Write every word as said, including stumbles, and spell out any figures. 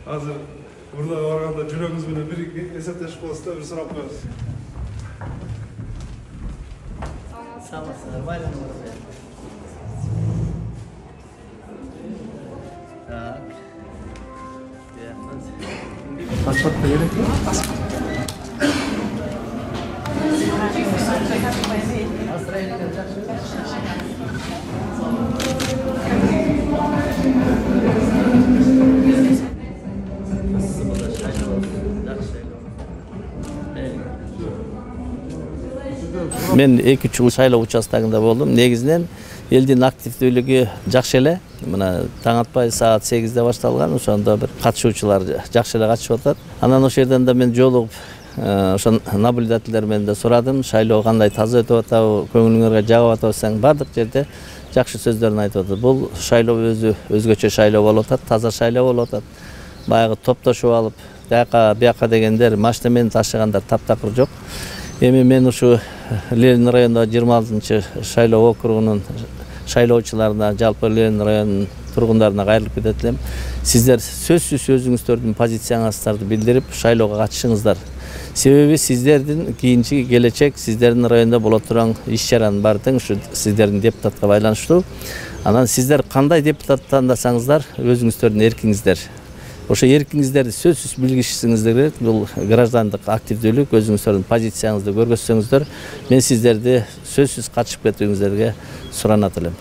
Азыр урдага барганда жүрөгүңүз менен бир эсептешип коесуз да, бир сурап коебуз. Саламатсыздар, байланыңыз. Так. Паспорт керек mi? Мен эки үч жыл шайлоо участогунда болдум. Негизинен элдин активдүүлүгү жакшы эле. Мына таң атпай саат сегизде башталган. Ошондо бир катышуучулар жакшы эле катышып атат. Анан ошол жерден да мен жолугуп, ошо наблюдательдер менен да сурадым. Шайлоо кандай таза өтүп атабы, көңүлүңөргө жагып атабы десең, бардык жерде жакшы сөздөрүн айтып атат. Бул шайлоо өзү өзгөчө шайлоо болуп атат, таза шайлоо болуп атат. Баягы топтошуп алып, бияка бияка дегендер машина менен ташыгандар таптакыр жок. Эми мен ушу Ленин районунда жыйырма алтынчы шайлоо округунун шайлоочуларына, жалпы Ленин районунун тургундарына кайрылып кетет элем. Сиздер сөзсүз өзүңүздөрдүн позицияңыздарды билдирип, шайлоого катышыңыздар. Себеби сиздердин кийинки келечек, сиздердин райондо боло турган иш-чаранын баардыгы ушу сиздердин депутатка байланыштуу. Анан сиздер кандай депутат тандасаңыздар, өзүңүздөрдүн эркиңиздер. Ошо эркиңиздерди сөзсүз билгишиңиздер керек. Бул граждандык активдүүлүк, өзүңүздөрдүн позицияңызды көргөзсөңүздөр, мен сиздерди сөзсүз катышып кетүүңүздөргө суранат элем.